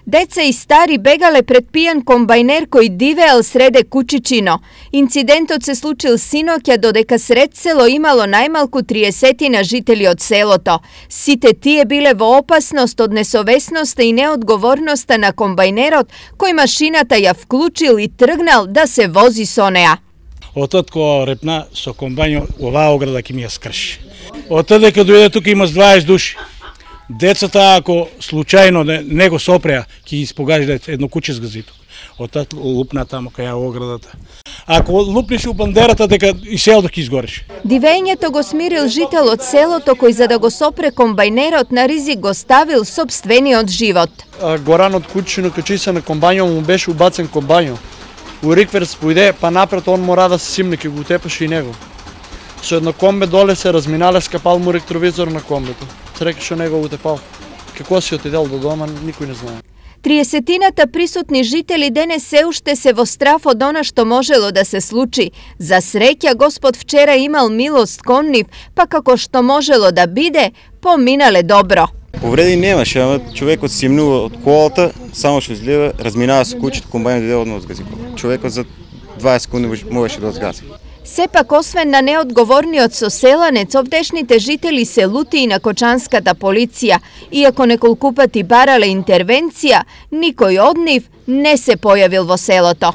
Деца и стари бегале пред пијан комбајнер кој дивеел среде Кучичино. Инцидентот се случил синоќа, додека сред село имало најмалку 30 жители од селото. Сите тие биле во опасност од несовесноста и неодговорноста на комбајнерот, кој машината ја вклучил и тргнал да се вози со неа. Отод кој репна со комбајн оваа ограда ќе ми ја скрши. Отод дека дојде тука има 20 души. Децата, ако случајно не го сопреа, ќе ги испогажда едно куче с газито. Отат лупна тамо кај оградата. Ако лупнеш у бандерата, дека и селото ќе изгориш. Дивењето го смирил жител од селото кој за да го сопре комбајнерот на ризик го ставил сопствениот живот. Горан од Кучино качи се на комбајнот, му беше убацен комбајнот. У рикверс поиде, па напред он мора да се симне, ќе го тепаше и него. Со едно комбе доле се разминале, скапал му ректровизор на комбето. Среќа што него утепал. Како си отидел до дома, никој не знае. 30-ната присутни жители денес се уште се во страф од она што можело да се случи. За среќа Господ вчера имал милост кон нив, па како што можело да биде, поминале добро. Повреди немаше, ама човекот симнува од колата, само што излева, разминава со кучето, комбајнот иде одно одгази. Човекот за 20 секунди можеше да одгази. Сепак, освен на неодговорниот соселанец, овдешните жители се лути и на кочанската полиција. Иако неколку пати барале интервенција, никој од нив не се појавил во селото.